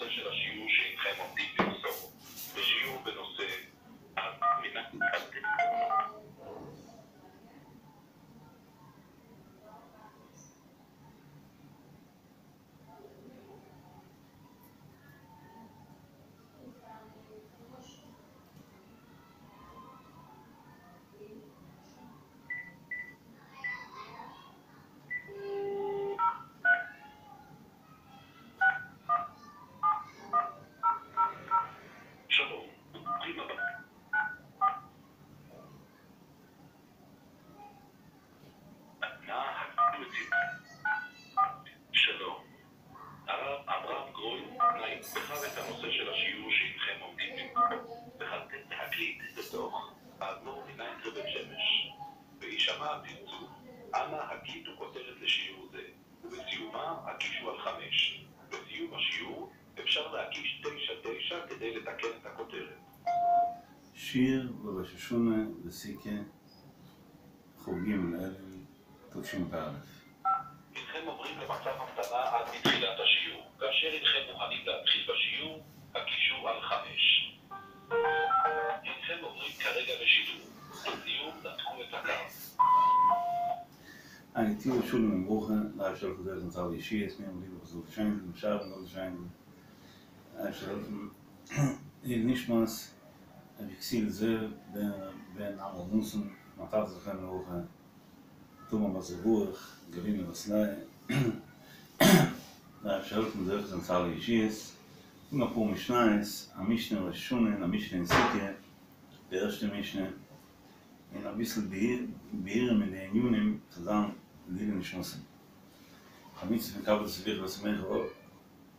של השיעור שהנכם עומדים למסור. בשיעור בנושא שלום, ברוכים הבאים. שלום, הרב אברהם גרויס בחר את הנושא של השיעור שהנכם עומדים להקליט בתוך האדמו"ר מניינטרה בית שמש. בהישמע הצלצול, אנא הקליטו כותרת לשיעור זה, ובסיומה הקישו על 5. בסיום השיעור אפשר להקיש 9-9 כדי לתקן את הכותרת. שיר בראש השנה בסוכה כ"ג אלול תשפ"א. הנכם עוברים למצב המתנה עד לתחילת השיעור. כאשר הנכם מוכנים להתחיל בשיעור, הקישו על 5. הנכם עוברים כרגע לשידור. לסיום נתקו את הקו. א גוט יאר שלום וברכה, דער אייבערשטער זאל העלפן זוכה זיין צו אלע ישועות, מיר האבן ליב וואס זאל שיינען, דעם שער זאל שיינען, דער אייבערשטער זאל העלפן, לעילוי נשמת, רבי יקותיאל זאב בן עמרם נתן, מיין טאטע זכרונו לברכה, תמר בת ברוך, גלינה בת לאה, דער אייבערשטער זאל העלפן זוכה זיין צו אלע ישועות, זאגן אפאר משניות, א משנה אין ראש השנה און א משנה אין סוכה, די ערשטע משנה. און אביסל ביאורים אין די ענינים צו זיין לעילוי נשמתם. א מצוה פון כבד את אביך ואת אמך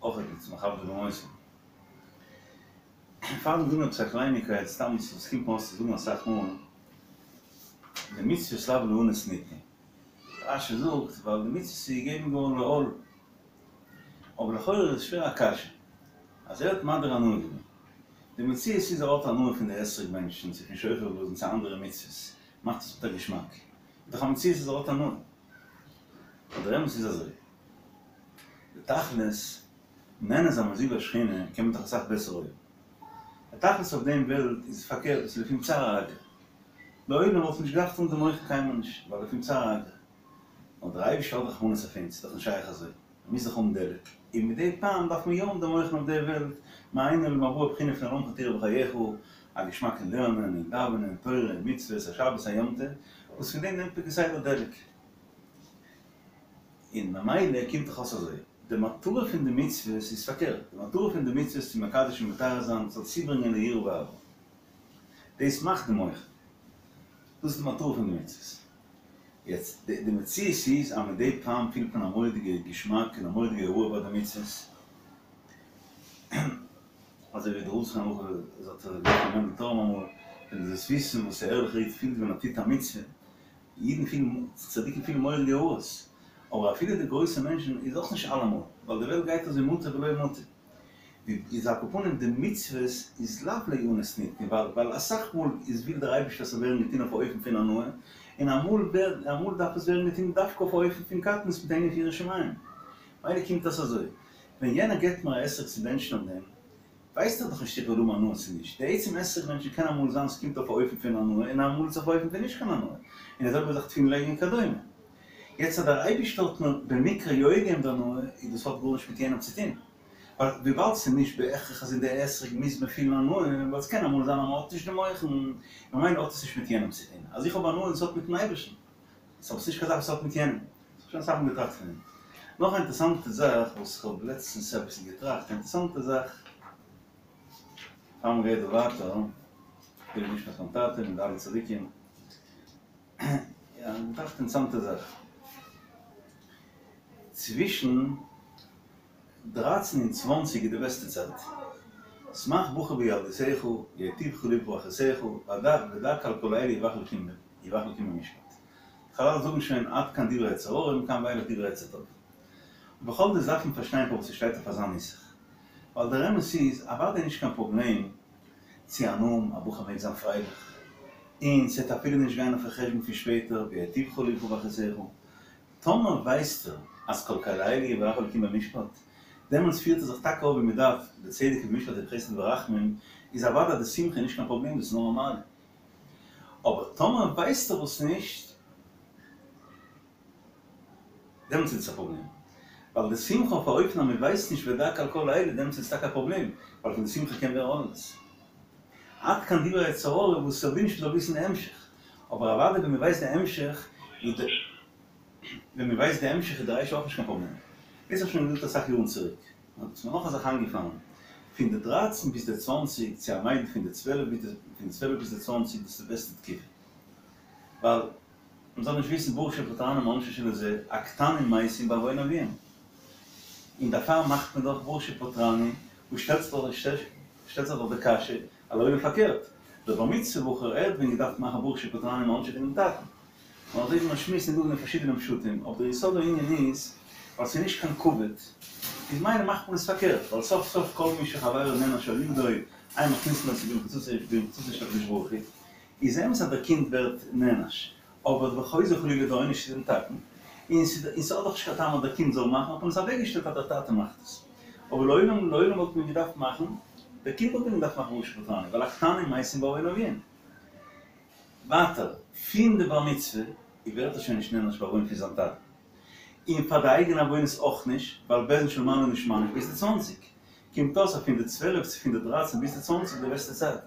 אויך איז מכבד במותו. פארדעם זאגן עפעס א קלייניקייט סתם וואס קומט מיר אויס צו זאגן אסאך מאל, די מצוות לאו לאנוס ניתנו. רש"י זאגט ווייל די מצוות איז געגעבן געווארן לעול. אבער לכאורה איז שווער א קשיא אז ער האט מדיר הנאה געווען. די מציאות איז ער האט הנאה פון די אתרוג בענטשן צו פון שופר בלאזן צו אנדערע מצוות מאכט עס מיט א געשמאק. איז דאך א מציאות אז ער האט הנאה. אבער דער אמת איז אזוי. די תכלית, נהנה זיין מזיוו השכינה קען מען דאך אסאך בעסער אויבן. די תכלית אויף דעם וועלט איז פארקערט, עס איז לפום צערא אגרא. לעולם וואלט מען נישט געדארפט האבן די מוחין קיינמאל נישט, ווייל לפום צערא אגרא. נאר דער אייבערשטער האט רחמנות אויף אונז, ס'איז דאך נישט שייך אזוי. מ'מוז דאך האבן דלק, און מדי פעם דארף מען יא האבן די מוחין אויף דער וועלט, מעין עולם הבא בחינה פון עולמך תראה בחייך, א געשמאק אין לערנען און דאווענען, תורה און מצוות, א שבת א יום טוב, וואס פון דעם נעמט מען כסדר דלק. און ממילא קומט דאך אויס אזוי, די מטרה פון די מצוות איז פארקערט, די מטרה פון די מצוות איז צו מקדש און מטהר זיין, ס'זאל צוברענגען ליראה ואהבה. דאס מאכט די מוחין. דאס איז די מטרה פון די מצוות. יעצט, די מציאות איז אז מדי פעם פילט מען א מורא'דיגע געשמאק און א מורא'דיגע הארה ביי די מצוות, אזוי ווי דער רב זכרונו לברכה האט געזאגט פאר מענדל טורם אמאל, ווען דו זאלסט וויסן וואס א ערליכער איד פילט ווען ער טוט א מצוה, אידן פילן, צדיקים פילן מורא'דיגע הארות, אבער אפילו די גרויסע מענטשן איז אויך נישט אלעמאל, ווייל די וועלט גייט אזוי מוטב ולא מוטב. איז על כל פנים די מצוות איז לאו לאונס ניתנו ווייל ווייל אסאך מאל איז וויל דער אייבערשטער ס'זאל ווערן געטון אויף א אופן פון הנאה און אמאל ווערט אמאל דארף עס ווערן געטון דווקא אויף א אופן פון קטנות מיט ענין פון יראת שמים מילא קומט אויס אזוי ווען יענער געבט מיר א אתרוג צו בענטשן אויף דעם ווייסט ער דאך נישט איך וועל האבן הנאה צו נישט די עצם אתרוג בענטשן קען אמאל זיין ס'קומט אויף א אופן פון הנאה און אמאל איז אויף א אופן פון נישט קיין הנאה און די זעלבע זאך תפילין לייגן וכדומה יעצט אז דער אייבערשטער האט מיר במקרה יא געגעבן די הנאה איז דאס האט גארנישט מיט יענעם צו טון. ווייל וויבאלד ס'איז נישט בהכרח אז אין די אתרוג מוז מען פילן הנאה, ווייל ס'קען אמאל זיין אז מ'האט נישט די מוחין, ממילא האט עס נישט מיט יענעם צו טון. אז איך האב הנאה דאס האט מיטן אייבערשטן. סאו ס'נישט קיין זאך וואס האט מיט יענעם. כ'האב שוין אסאך מאל געטראכט פון דעם. נאך א אינטערעסאנטע זאך וואס כ'האב לעצטנס אביסל געטראכט, א אינטערעסאנטע זאך, פאר מ'גייט דא ווייטער, לעילוי נשמת מיין טאטע מיט די אלע צדיקים, יא, געטראכט אינטערעסאנטע זאך. צווישן דרײַצן און 20 איז די בעסטע צייט. שמח בחור בילדותך, ייטיבך לבך באחריתך, ודע כי על כל אלה יבח אלקים במשפט. חזל זאגן שוין עד כאן דברי יצר הרע מכאן ואילך דברי יצר טוב. ובכל זאת דארף מען פארשטיין פארוואס ס'שטייט אויף אזא נוסח. ווייל דער אמת איז, אוודאי נישט קיין פראבלעם צו הנאה האבן, א בחור מעג זיין פרייליך, און ס'וועט אפילו נישט גיין אויפן חשבון פון שפעטער, וייטיבך לבך באחריתך. טאמער ווייסטו אז כל אלה יבח אלקים במשפט? דעמאלטס פירט ער זיך טאקע אויף ווי מען דארף, בצדק ובמשפט ובחסד וברחמים, איז אוודאי די שמחה נישט קיין פראבלעם, דאס איז נאר א מעלה. אבער טאמער ווייסט ער עס נישט, דעמאלטס איז עס א פראבלעם. ווייל די שמחה אויף א אופן אז מען ווייסט נישט ודע על כל אלה, דעמאלטס איז עס טאקע א פראבלעם, ווייל פון די שמחה קען ווערן עוללות. עד כאן דברי יצר הרע וואס ער וויל נישט מ'זאל וויסן די המשך. אבער אוודאי ווען מען ווייסט די המשך, איז די ווען מען ווייסט די המשך איז די רישא אויך נישט קיין פראבלעם. דאס האב איך שוין געזאגט אסאך יארן צוריק. נאר ס'איז מיר נאך א זאך איינגעפאלן. פון די דרייצן ביז די צוואנציג, צו א מיידל פון די צוועלף ביז די פון די צוועלף ביז די צוואנציג, דאס איז די בעסטע תקופה. ווייל מען זאל נישט וויסן ברוך שפטרני מעונשו של זה, הקטנים מתים בעוון אביהם. און דערפאר מאכט מען דאך ברוך שפטרני, וואס שטעלט זיך דאך שטעלט זיך דאך די קשיא, אז לעולם פארקערט, דער בר מצוה בחור ער האט ווען געדארפט מאכן ברוך שפטרני מעונשו פונעם טאטן. נאר אזוי ווי מען שמועסט איז דא אין פארשידענע פשטים, אבער דער יסוד הענין איז, ווייל ס'איז נישט קיין כבוד, איז מילא מאכט מען עס פארקערט, ווייל סוף סוף כל מי שחבירו נענש על ידו, אין מכניסין אותו במחיצתו של הקדוש ברוך הוא, איז אמת אז דער קינד ווערט נענש, אבער וחוזר חלילה דער עונש איז דעם טאטן, און ס'האט דאך נישט קיין טעם אז דער קינד זאל מאכן, האט מען עס אוועקגעשטעלט אז דער טאטע מאכט עס. אבער לעולם לעולם וואלט מען געדארפט מאכן, דער קינד וואלט ווען געדארפט מאכן ברוך שפטרני, ווייל הקטנים מתים בעוון אביהם. ווייטער, פון די בר מצוה ווערט ער שוין נישט נענש בעוון פון זיין טאטן, און פאר די אייגענע עוונות אויך נישט, ווייל בית דין של מעלה נישט מעניש ביז די צוואנציג. קומט אויס אז פון די צוועלף צו פון די דרייצן ביז די צוואנציג די בעסטע צייט.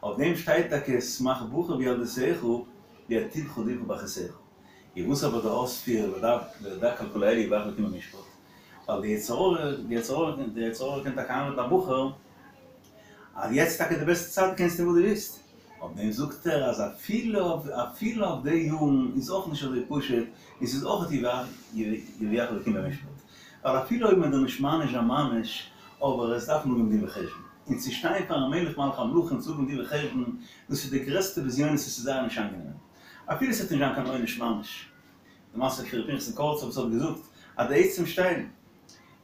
אויף דעם שטייט טאקע שמח בחור בילדותך ויטיבך לבך באחריתך. איז וואס אבער די אויספיר ודע כי על כל אלה יביאך אלקים במשפט? ווייל די יצר הרע די יצר הרע די יצר הרע קען טאקע איינרעדן א בחור אז יעצט טאקע די בעסטע צייט דו קענסט טון וואס דו ווילסט. אויף דעם זאגט ער אז אפילו אויף אפילו אויף די יארן איז אויך נישט אזוי פשוט און ס'איז אויך יביאך אלקים במשפט. ווייל אפילו אויב מען דארף נישט מעניש זיין ממש, אבער עס דארף מען האבן דין וחשבון, און צו שטיין פארן מלך מלכי המלכים צו האבן דין וחשבון, דאס איז די גרעסטע בזיונות עס איז זייער נישט איינגענעם, אפילו עס וועט נישט זיין קיין עונש ממש. די מעשה פון ר' פנחס'ל קאריצער וואס האט געזאגט אז די עצם שטיין,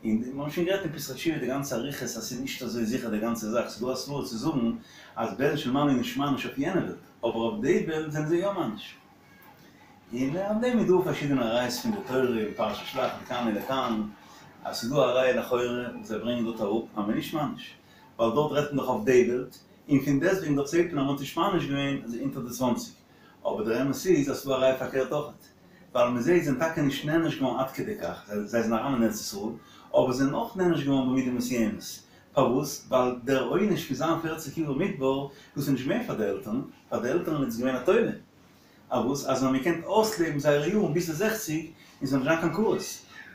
און מיר האבן שוין גערעדט אין פתחי תשובה די גאנצע אריכות אז ס'איז נישט אזוי זיכער די גאנצע זאך, ס'איז דא א סברא צו זאגן אז בית דין של מעלה איז נישט מעניש אויף יענע וועלט, אבער אויף די וועלט זענען זיי יא מעניש. און אויף דעם איז דא פארשידענע ראיות פון די תורה אין פרשת שלח לכאן ולכאן, אז ס'איז דא א ראיה לכאורה וואס זיי ברענגען דארט אראפ אז מ'איז נישט מעניש, ווייל דארט רעדט מען דאך אויף די וועלט, און פון דעסטוועגן דארט זעט מען אז מ'האט נישט מעניש געווען אז אונטער די צוואנציג, אבער דער אמת איז אז ס'איז דא א ראיה פארקערט אויכעט, ווייל מ'זעט זיי זענען טאקע נישט נענש געווארן עד כדי כך, זיי זענען אריין אין ארץ ישראל, אבער זיי זענען אויך נענש געווארן במידה מסוימת, פארוואס? ווייל דער עונש פון זיין פערציג יאר אין מדבר, דאס איז נישט געווען פאר די עלטערן, פאר די עלטערן איז עס געווען א טובה, אויף וואס? אז זיי האבן געקענט אויסלעבן זייערע יארן ביז די זעכציג און ס'זאל נישט זיין קיין כרת.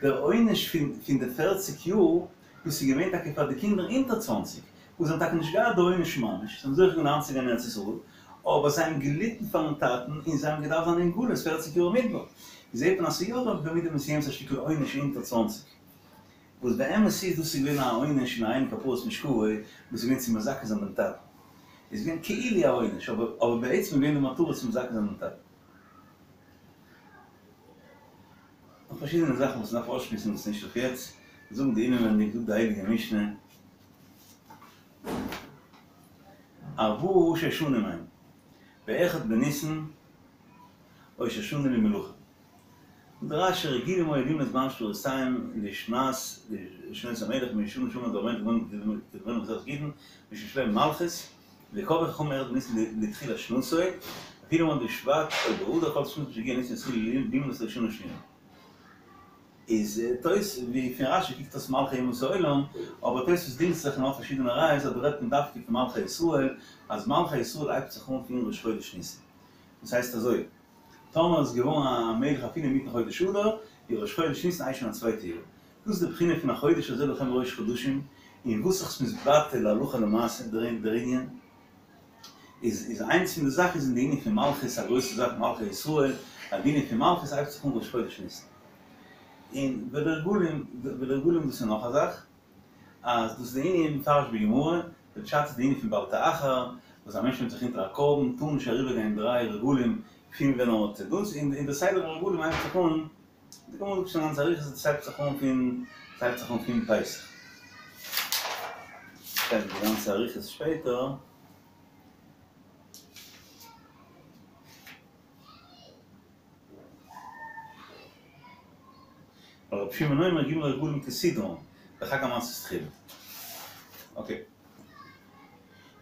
דער עונש פון פון די פערציג יאר, דאס איז געווען טאקע פאר די קינדער אונטער צוואנציג, וואס זיי האבן טאקע נישט געהאט די עונש ממש, זיי האבן זוכה געווען אריינצוגיין אין ארץ ישראל, אבער זיי האבן געליטן פארן טאטן און זיי האבן געדארפט זיין אין גלות פערציג יאר אין מדבר. זעט מען אז ס'איז יא דא במידה מסוימת א שטיקל עונש אונטער צוואנציג. וואס באמת איז דאס איז געווען א עונש אין הריני כפרת משכבו, וואס איז געווען צו מזכה זיין דעם טאטן. איז געווען כאילו א עונש, אבער אבער בעצם איז געווען די מטרה צו מזכה זיין דעם טאטן. נאך פארשידענע זאכן וואס מ'דארף אויסשמועסן וואס איז נישט אויף יעצט, זאגן די אינעווענדיג זאגט די הייליגע משנה, ארבעה ראשי שנים הם, באחד בניסן, ראש השנה למלכים. זאגט רש"י רגילים היו למנות באנשים לדורותיהם לשנת לשנות המלך משנה לשנה דברנו כדברנו במסכת גיטין משום שיש להם מלכות וקבעו חכמים אחד בניסן לתחילת שנתו ואפילו למנאו בשבט או באדר כל שנתו משהגיע ניסן התחילו למנות לשנה שניה. איז תוס' ווי פון רש"י קוקט אויס מלכי אומות העולם, אבער תוס' דינגט זיך און האט פארשידענע ראיות אז דא רעדט מען דווקא פון מלכי ישראל, אז מלכי ישראל הייבט זיך אן פון ראש חודש ניסן. דאס הייסט אזוי. טאמער איז געווארן א מלך אפילו אינמיטן חודש אדר, איז ראש חודש ניסן הייסט שוין א צווייטע יאר. דאס איז די בחינה פון החודש הזה לכם ראש חדשים, און וואס זיך מתבטא להלכה למעשה דער ענין, איז איז איינס פון די זאכן איז אין די ענין פון מלכות א גרויסע זאך מלכי ישראל, אז די ענין פון מלכות הייבט זיך אן ראש חודש ניסן. און ולרגלים ולרגלים דאס איז נאך א זאך. אז דאס איז די ענין מפרש בגמרא, די פשט איז די ענין פון בל תאחר, וואס א מענטש נעמט זיך אונטער א קרבן, טאר נישט אריבער גיין דריי רגלים פון ווען ער האט דאס, און די סדר הרגלים הייבט זיך אן, די גמרא זאגט שוין א גאנצע אריכות, דאס הייבט זיך אן פון, עס הייבט זיך אן פון פסח. שטייט די גאנצע אריכות שפעטער. ווייל רבי שמעון אומר ג' רגלים כסדרן, די חג המצות תחילה. אקעי.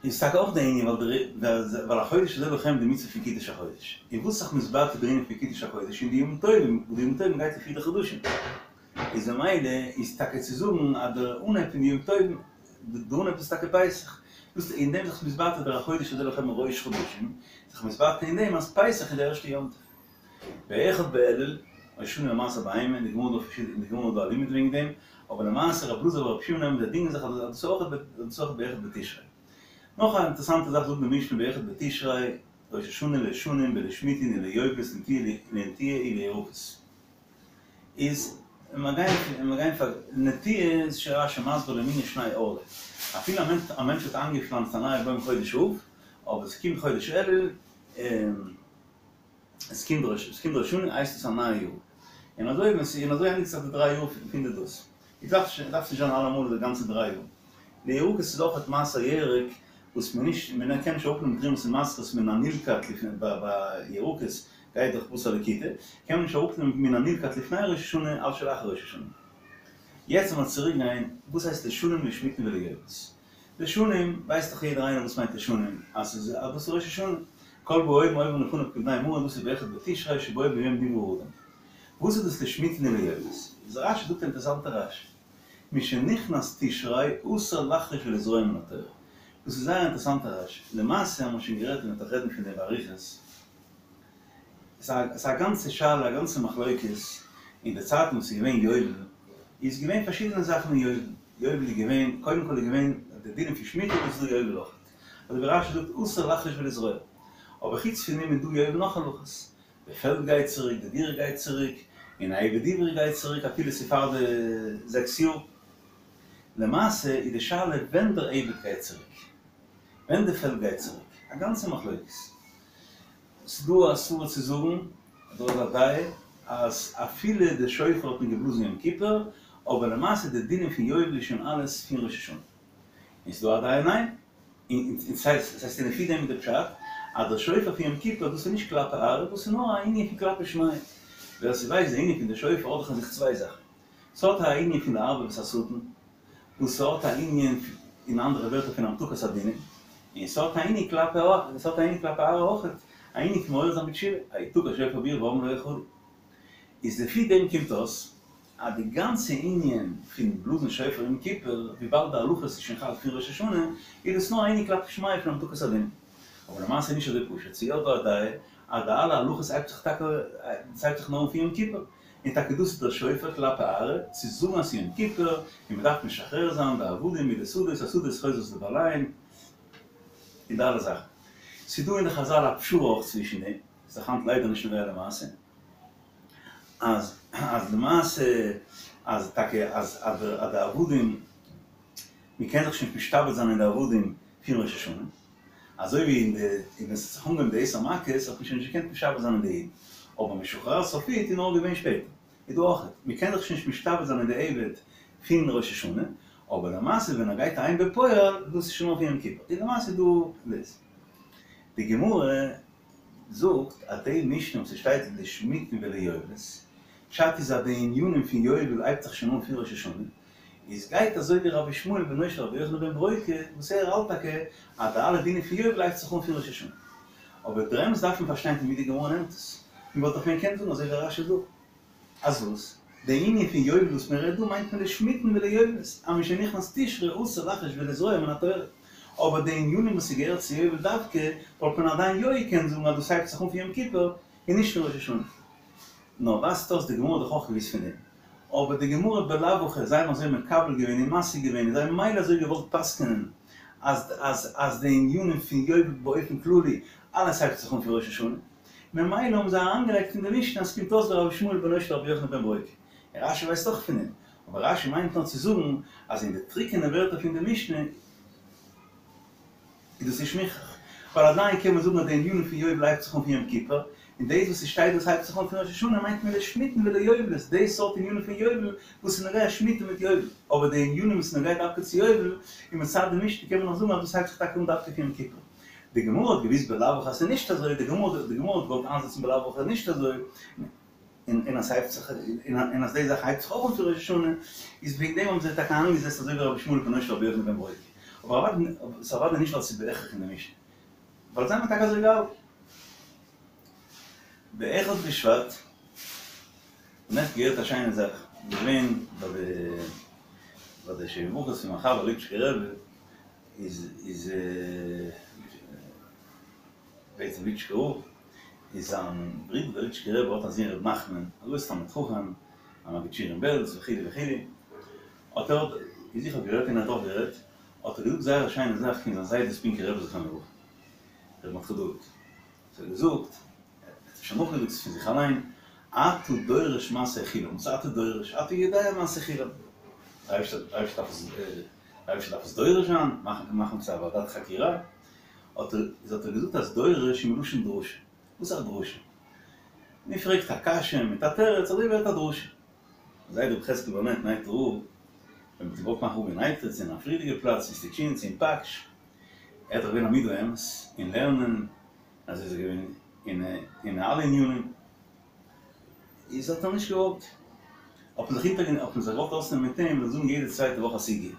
איז טאקע אויך די ענין ווייל די ווייל החודש הזה לכם די מצוה פון קידוש החודש. און וואס איז זיך מתבטא דער ענין פון קידוש החודש אין די ימים טובים, וואס די ימים טובים גייט לפי די חדשים. איז ממילא איז טאקע צו זאגן אז דער אנהייב פון די ימים טובים, די אנהייב איז טאקע פסח. דאס אין דעם זיך מתבטא דער החודש הזה לכם ראש חדשים, זיך מתבטא אין דעם אז פסח איז די ערשטע יום טוב. באחד באלול, ראש השנה למעשר בהמה, אין די גמרא דא פארשידענע, אין די גמרא איז דא א לימוד וועגן דעם, אבער למעשה רב אלעזר ורב שמעון האבן זיי דינגען זיך אז דאס איז אויך דאס איז אויך באחד בתשרי. נאך א אינטערעסאנטע זאך זאגט די משנה באחד בתשרי, ראש השנה לשנים ולשמיטין וליובלות לנטיעה ולירקות. איז מיר גייען מיר גייען פאר נטיעה איז שוין רש"י מסביר למינן שני ערלה אפילו א מענטש האט איינגעפלאנצט א נייע בוים חודש אב אבער עס קומט חודש אלול און עס קומט ראש עס קומט ראש השנה הייסט עס א נייע יאר און אזוי ווען ס'איז און אזוי ענדיגט זיך די דריי יאר פון די דאס איז דארף נישט דארף נישט זיין אלעמאל די גאנצע דריי יאר לירקות איז אויך מעשר ירק וואס מען נישט מען קען נישט אראפנעמען תרומות און מעשרות מן הנלקט לפני ביי ירקות גייט דאך בתר לקיטה קען מען נישט אראפנעמען מן הנלקט לפני ראש השנה על שלאחר ראש השנה יעצט לאמיר צוריק גיין וואס הייסט לשנים לשמיטין וליובלות לשנים ווייסט דאך יעדער איינער וואס מיינט לשנים אז ס'איז אז דאס איז ראש השנה כל באו עוברים לפניו כבני מרון דאס איז באחד בתשרי שבו ביום נברא האדם וואס איז דאס לשמיטין וליובלות איז רש"י זאגט א אינטערעסאנטע רש"י משנכנס תשרי אסור לחרוש ולזרוע מן התורה. דאס איז זייער אינטערעסאנטע רש"י. למעשה האבן מיר שוין גערעדט און מ'וועט נאך רעדן פון דעם באריכות. ס'איז א גאנצע שאלה א גאנצע מחלוקת, אין די צייטן וואס איז געווען יובל, איז געווען פארשידענע זאכן אין יובל. יובל איז געווען, קודם כל איז געווען די דינים פון שמיטה דאס איז דא יובל אויך. אזוי ווי רש"י זאגט אסור לחרוש ולזרוע. אבער חוץ פון דעם איז דא יובל נאך הלכות. די פעלד גייט צוריק, די דירה גייט צוריק, און א עבד עברי גייט צוריק אפילו ס'איז פאר די זעקס יאר. למעשה איז די שאלה ווען דער עבד גייט צוריק, ווען די פעלד גייט צוריק, א גאנצע מחלוקת. ס'איז דא א סברא צו זאגן, דא איז א דעה, אז אפילו די שופר האט מען געבלאזן יום כיפור, אבער למעשה די דינים פון יובל איז שוין אלעס פון ראש השנה. און ס'איז דא א דעה ניין. און ס'הייסט ס'הייסט לפי דעם איז די פשט אז דער שופר פון יום כיפור דאס איז נישט כלפי ארעא דאס איז נאר א ענין פון כלפי שמיא. ווער ס'ווייסט די ענין פון די שופר האט דאך אין זיך צוויי זאכן. ס'האט א ענין פון לערבב את השטן, וואס ס'האט א ענין אין אנדערע ווערטער פון המתקת הדינים, און ס'האט א ענין כלפי ס'האט א ענין כלפי ארעא אויכעט, א ענין פון מעורר זיין בתשובה, היתקע שופר בעיר והעם לא יחרדו. איז לפי דעם קומט אויס אז די גאנצע ענין פון בלאזן שופר יום כיפור, וויבאלד די הלכות איז שוין חל פון ראש השנה, איז דאס נאר א ענין כלפי שמיא פון המתקת הדין. אבער למעשה איז נישט אזוי פשוט, ס'איז יא דא א דעה אז די אלע הלכות הייבט זיך טאקע ס'הייבט זיך נאר אן פון יום כיפור, און טאקע דאס איז דער שופר כלפי ארעא, צו זאגן אז ס'איז יום כיפור, און מ'דארף משחרר זיין די עבדים מיט די שדות, השדות חוזרות לבעליהן, און די אלע זאכן. ס'איז דא אין די חזל א פשרה אויך צווישן דעם, ס'איז דאך היינט ליידער נישט נוגע למעשה. אז אז למעשה אז טאקע אז אז די עבדים מען קען זיך שוין נישט משתעבד זיין אין די עבדים פון ראש השנה, אזוי ווי אין די און ווען ס'האט זיך אנגעהויבן די עשר מכות האט מען שוין נישט געקענט משתעבד זיין אין די אידן, אבער משוחרר סופית איז נאר געווען שפעטער, איז דא אויך, מען קען זיך שוין נישט משתעבד זיין אין די עבד פון ראש השנה, אבער למעשה ווען ער גייט אהיים בפועל דאס איז שוין נאר פון יום כיפור, איז למעשה דא דאס. די גמרא זאגט אז די משנה וואס ס'שטייט לשמיטין וליובלות, פשט איז אז די ענינים פון יובל הייבט זיך שוין אן פון ראש השנה, איז גייט אזוי ווי רבי ישמעאל בנו של רבי יוחנן בן ברוקה וואס ער האלט טאקע אז די אלע דינים פון יובל הייבט זיך אן פון ראש השנה. אבער דער אמת דארף מען פארשטיין פון ווי די גמרא נעמט עס, מען וואלט דאך ווען געקענט זאגן אזוי ווי רשי דא. אז וואס? די ענין פון יובל וואס מען רעדט דא מיינט מען לשמיטין וליובלות, אז משנכנס תשרי אסור לחרוש ולזרוע מן התורה. אבער די ענינים וואס ס'געהערט צו יובל דווקא, וואלט מען עדיין יא געקענט זאגן אז דאס הייבט זיך אן פון יום כיפור און נישט פון ראש השנה. נאר ווייזט אויס די גמרא האט דאך אויך געוואוסט פון דעם. אבער די גמרא בלאו הכי זיי האבן אזוי מקבל געווען און משיג געווען און זיי האבן ממילא אזוי געוואלט פסק'נען אז אז אז די ענינים פון יובל באופן כללי אלעס הייבט זיך אן פון ראש השנה. ממילא האבן זיי אריינגעלייגט אין די משנה אז ס'קומט אויס ווי רבי ישמעאל בנו של רבי יוחנן בן ברוקה. און רשי ווייסט אויך פון דעם. אבער רשי מיינט נאר צו זאגן אז אין די טרוקענע ווערטער פון די משנה איז דאס נישט מוכרח. ווייל עדיין קען מען זאגן אז די ענינים פון יובל הייבט זיך אן פון יום כיפור, און דאס וואס ס'שטייט דאס הייבט זיך אן פון ראש השנה מיינט מען לשמיטין וליובלות, די סארט ענינים פון יובל וואס איז נוגע שמיטה מיט יובל. אבער די ענינים וואס איז נוגע דווקא צו יובל, און מצד די משנה קען מען נאך זאגן אז דאס הייבט זיך טאקע אן דווקא פון יום כיפור. די גמרא האט געוואוסט בלאו הכי אז ס'איז נישט אזוי, די גמרא די גמרא האט געוואלט איינזעצן בלאו הכי אז נישט אזוי. און אז ס'הייבט זיך און אז די זאך הייבט זיך אויך אן פון ראש השנה, איז וועגן דעם האבן זיי טאקע איינגעזעצט אזוי ווי רבי ישמעאל בנו של רבי יוחנן בן ברוקה. אבער אוודאי ס'איז אוודאי נישט ווייל ס'איז בהכרח אין די משנה. ווייל זיי האבן טאקע אזוי געהאלטן. באחד בשבט, נעכטן געהערט א שיינע זאך, געווען ביי די ביי די שבע ברכות פון מיין חבר ליפשיצער רבי, איז איז בעצם ליטשקער רב, איז זיין ברודער דער ליטשקער רבי האט א זון ר' נחמן, א גרויסע תלמיד חכם, א מגיד שיעור אין בעלז וכו' וכו', האט ער, איז איך האב געהערט און ער האט אויך גערעדט, האט ער געזאגט זייער א שיינע זאך פון זיין זיידע ספינקער רבי זכרונו לברכה, ר' מרדכי דוד, האט ער געזאגט, ער האט שוין נאכגעזאגט פון זיך אליין, אתה דורש מעשה חילם, וואס אתה דורש? אתה יודע מעשה חילם. דער אייבערשטער דארף עס, דער אייבערשטער דארף עס דורש זיין, מאכן מאכן עפעס א ועדת חקירה, האט ער, איז האט ער געזאגט אז דורש איז מלשון דרשה. וואס איז א דרשה? מען פרעגט א קשיא מיט א תירוץ, אזוי ווערט א דרשה. זיידע רבי חזקאל בארנעט נייטרא רב, ווען מען האט געוואלט מאכן רב אין נייטרא צו אין א פריערדיגע פלאץ אין סטיטשין צו אין פאקש, ער האט דאך געווען א מידה אמת אין לערנען, אזוי איז ער געווען אין אין אלע ענינים, איז האט ער נישט געוואלט, האט מען זיך אונטער האט מען זיך געוואלט אויסנעמען מיט אים, ער זאל זאגן יעדע צווייטע וואך א סוגיא,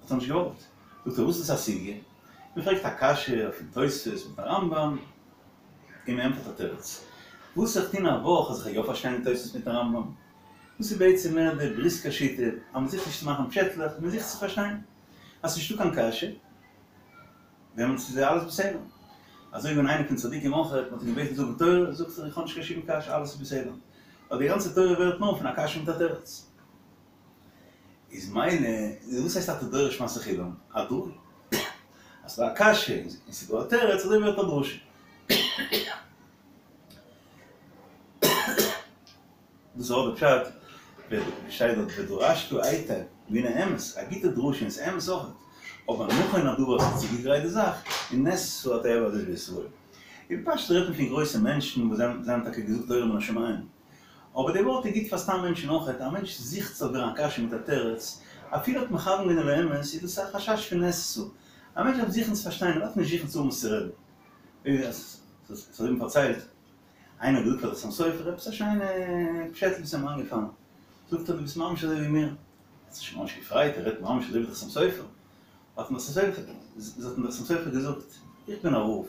האט ער נישט געוואלט, זאגט ער וואס איז א סוגיא? מען פרעגט א קשיא אויפן תוספות מיטן רמב ם, און מען ענטפערט א תירוץ, וואס זיך טון א וואך אז איך וועל יא פארשטיין די תוספות מיטן רמב ם? דאס איז בעצם מער די בריסקער שיטה, אז מען זוכט נישט צו מאכן פשעטלעך, מען זוכט צו פארשטיין אז ס'נישטא קיין קשיא, דעמאלטס איז אלעס בסדר. אזוי ווי איינער פון צדיקים אויך, מען האט אים געבעטן זאגן תורה, זאגט ער איך האב נישט קיין שום קשיא אלעס איז בסדר. ווייל די גאנצע תורה ווערט נאר פון א קשיא מיט א תירוץ. איז מילא, וואס הייסט אתה דורש מעשה חילם? א דרשה. אז ס'דא א קשיא און ס'דא א תירוץ, אזוי ווערט א דרשה. דאס איז אויך די פשט ווען שטייט דארט ודרשת היטב, והנה אמת, א גוטע דרשה און ס'איז אמת אויך, אבער נכון הדבר ס'איז צוגעגרייט די זאך, און נעשתה התועבה הזאת בישראל. אין פשטות רעדט מען פון גרויסע מענטשן וואס זיי האבן טאקע געזאגט תורה מן השמים, אבער די ווארט איז גוט פאר סתם מענטשן אויך, א מענטש זוכט ס'זאל ווערן א קשיא מיט א תירוץ, אפילו האט מכוון געווען אל האמת, איז דאס א חשש פון נעשתה. א מענטש דארף זוכן צו פארשטיין, ער דארף נישט זוכן צו האבן וואס צו רעדן. ווי עס האט פארציילט. איינער האט געזאגט פאר די חתם סופר עפעס א שיינע פשעטל וואס איז אים איינגעפאלן, זאגט ער דו ביסט ממש אזוי ווי מיר, ער האט זיך שוין ממש געפרייט ער רעדט ממש אזוי ווי די חתם סופר, האט אים די חתם סופר געזאגט, איך בין א רב,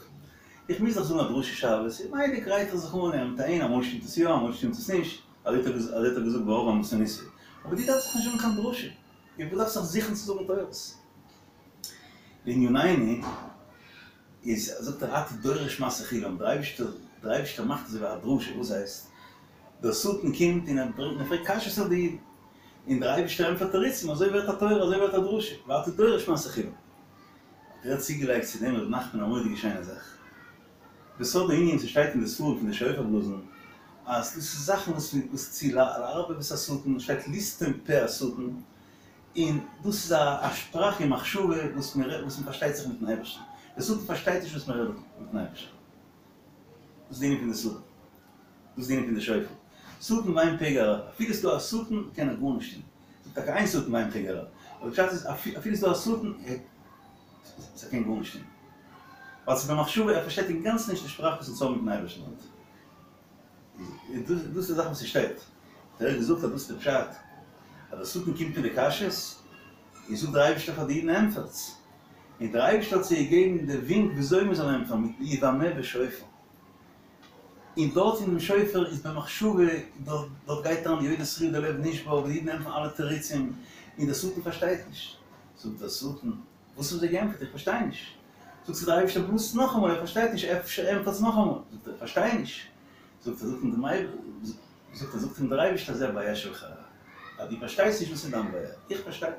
איך מוז דאך זאגן א דרשה שבת, און מילא גרייט איך זיך אן מיט אהין, אמאל שטימט עס יא אמאל שטימט עס נישט, אזוי האט ער געזאגט ברוב ענוותנותו, אבער דו דארפסט דאך נישט זאגן קיין דרשה, דו דארפסט זיך זוכן צו זאגן תורות. לענינינו. איז זאגט ער אתה דורש מעשה חילם, דער אייבישטער דער אייבישטער מאכט אזוי ווי א דרשה, וואס הייסט? דער שטן קומט און ער ברענגט און ער פרעגט קשיות אויף די אידן, און דער אייבישטער ענטפערט תירוצים, אזוי ווערט א תורה, אזוי ווערט א דרשה, ואתה דורש מעשה חילם. האט ער צוגעלייגט צו דעם ר' נחמן א מורא'דיגע שיינע זאך. בסוד הענין ס'שטייט אין די ספרים פון די שופר בלאזן, אז דאס איז זאכן וואס וואס צו לערבב את השטן, שטייט לסתום פה השטן, און דאס איז א שפראך און מחשבה וואס מען רעדט וואס מען פארשטייט זיך מיטן אייבערשטן, דער שטן פארשטייט נישט וואס מען רעדט מיטן אייבערשטן, דאס איז די ענין פון די שטן, דאס איז די ענין פון די שופר, שטן ואין פגע רע, אפילו ס'איז דא א שטן קען ער גארנישט טון, ס'איז טאקע אין שטן ואין פגע רע, אבער פשט איז אפילו ס'איז דא א שטן ער קען גארנישט טון, ווייל ס'איז במחשבה ער פארשטייט אינגאנצן נישט די שפראך וואס אונז האבן מיטן אייבערשטן. דאס איז די זאך וואס ס'שטייט. האט ער געזאגט אז דאס איז די פשט, אז דער שטן קומט מיט די קשיות, און זאגט דער אייבערשטער פאר די אידן ענטפערטס, און דער אייבערשטער האט זיי געגעבן די ווינק וויאזוי מען זאל ענטפערן, מיט ובמה בשופר. און דארט אין דעם שופר איז במחשבה, דארט גייט אריין יודע תרועה דער לב נשבר, וואו די אידן ענטפערן אלע תירוצים, און דער שטן פארשטייט נישט. זאגט דער שטן, וואס האבן זיי געענטפערט? איך פארשטיי נישט. זאגט זיי דער אייבערשטער בלאזט נאכאמאל, ער פארשטייט נישט, אפשר ענטפערטס נאכאמאל. זאגט ער, איך פארשטיי נישט. זאגט ער, זאגט אים דער זאגט ער, זאגט אים דער אייבערשטער זה הבעיה שלך, אז דו פארשטייסט נישט וואס איז דיין בעיה, איך פארשטיי.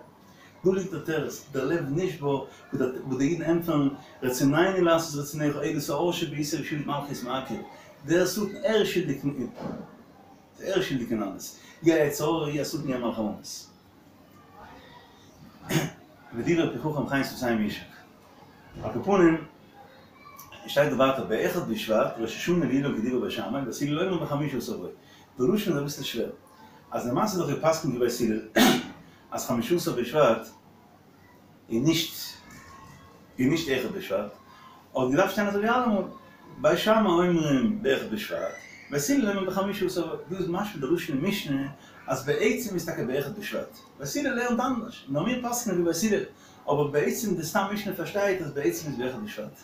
דא ליגט דער תירוץ, דער לב נשבר, וואו די אידן ענטפערן, רצוננו לעשות רצונך, אלא שאור שבעיסה ושעבוד מלכיות מעכב. דער שטן, ער איז שולדיג אין, ער איז שולדיג אין אלעס. הוא היצר הרע, הוא השטן, הוא מלאך המוות. ודברי פי חכם חן שפתים ישק. על כל פנים, שטייט דא ווייטער באחד בשבט, ראש השנה לאילן כדברי בית שמאי, ובית הלל אומרים בחמישה עשר בו. די לשון איז אביסל שווער. אז למעשה איז דאך גע'פסק'נט ווי בית הלל אז חמישה עשר בשבט איז נישט איז נישט אחד בשבט, האט געדארפט שטיין אזוי ווי אלעמאל, בית שמאי אומרים באחד בשבט. בית הלל לערנען בחמשה עשר, דא איז משמע די לשון אין משנה אז בעצם איז טאקע באחד בשבט, בית הלל לערנט אנדערש, נאר מיר פסק'נען ווי בית הלל, אבער בעצם די סתם משנה פארשטייט אז בעצם איז באחד בשבט.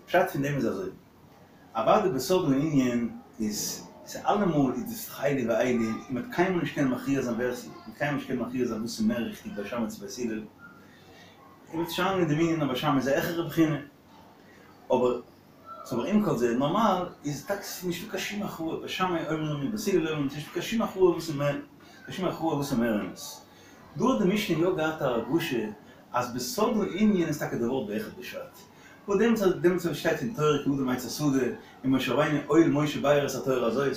פשט פון דעם איז אזוי, אוודאי בסוד הענין איז ס'אלעמאל איז דאס אלו ואלו, און מ'וועט קיינמאל נישט קענען מכריע זיין ווער ס'איז, מ'וועט קיינמאל נישט קענען מכריע זיין וואס איז מער ריכטיג בית שמאי צו בית הלל, און מ'וועט שוין אין דעם ענין אז בית שמאי איז א העכערע בחינה, אבער ס'אבער עם כל זה, נארמאל איז טאקע ס'איז נישטא קיין שום הכרעה, בית שמאי אומרים ובית הלל אומרים, ס'איז נישטא קיין שום הכרעה וואס איז מער, קיין שום הכרעה וואס איז מער אמת. דא האט די משנה יא געהאט א הרגשה אז בסוד הענין איז טאקע די ווארט באחד בשבט. וואס דעמאלטס דעמאלטס וואס שטייט אין תורה כי האדם עץ השדה און משה רבינו הואיל משה באר את התורה הזאת.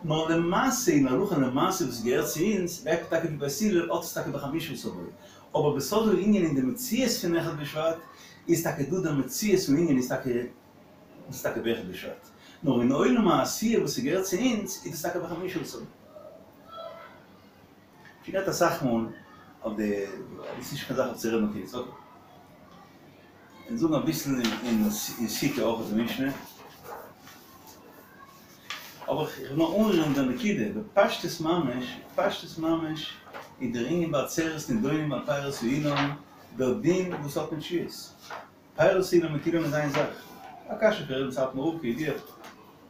נאר למעשה אין הלכה למעשה וואס געהערט צו אונז גייט טאקע ווי בית הלל האט עס טאקע בחמשה עשר בו. אבער בסוד הענין אין די מציאות פון אחד בשבט איז טאקע דא דער מציאות הענין איז טאקע איז טאקע באחד בשבט. נאר אין עולם העשיה וואס ס'געהערט צו אונז איז דאס טאקע בחמשה עשר בו. שוין געהאט אסאך מאל אויף די, דאס איז נישט קיין זאך אויף צו רעדן אויף יעצט, אקעי. און זאגן אביסל אין סוכה אויך די משנה. אבער איך וויל נאר אנרירן די נקודה, בפשטות ממש, בפשטות ממש איז דער ענין בעצרת נידונים על פירות האילן דער דין וואס האט מיט שביעית. פירות האילן מיט אילן איז איין זאך. א קשיא פון ר' סאטמאר רב כידוע.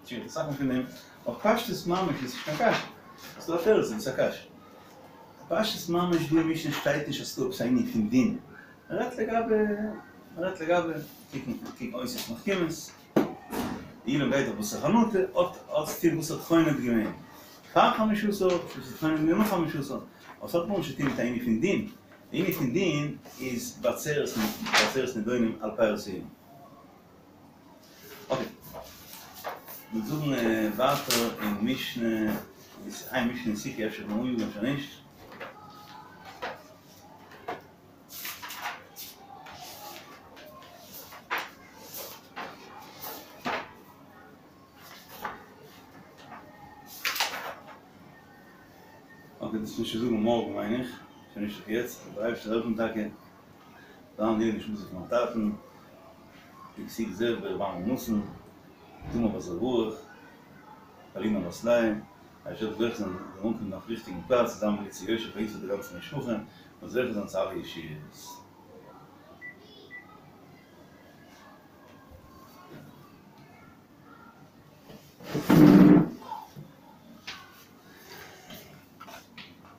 שוין אסאך מאל פון דעם. אבער פשטות ממש איז נישט קיין קשיא. ס'איז דא א תירוץ אבער ס'איז א קשיא. פשטות ממש דא אין משנה שטייט נישט אז ס'דא עפעס א ענין פון דין. מ'רעדט לגבי, מ'רעדט לגבי, קוקן קוקן אותיות מחכימות. די אילן גייט דאך בתר חנטה, האט האט צו טון וואס האט חונט געווען פאר חמשה עשר, וואס האט חונט געווען נאך חמשה עשר. אבער ס'האט גארנישט צו טון מיט א ענין פון דין. די ענין פון דין איז בעצרת בעצרת נידונים על פירות האילן. אקעי. מיר זאגן ווייטער אין משנה, איז איין משנה אין סוכה אפשר פון אנגעגאנגען אפשר נישט. אקעי דאס מוז איך זאגן מארגן מיין איך, שוין נישט אויף יעצט, דער אייבערשטער זאל העלפן טאקע, זיין לעילוי נשמתו פון מיין טאטן, יקותיאל זאב ב ר אברהם נתן, תמר בת ר' ברוך, פאלינא בת לאה, אייבערשטער זאל זוכה זיין זאל אנקומען אויפן ריכטיגן פלאץ, זיין מליצה יושר פאר אונז פאר די גאנצע משפחה, און זוכה זיין צו אלע ישועות.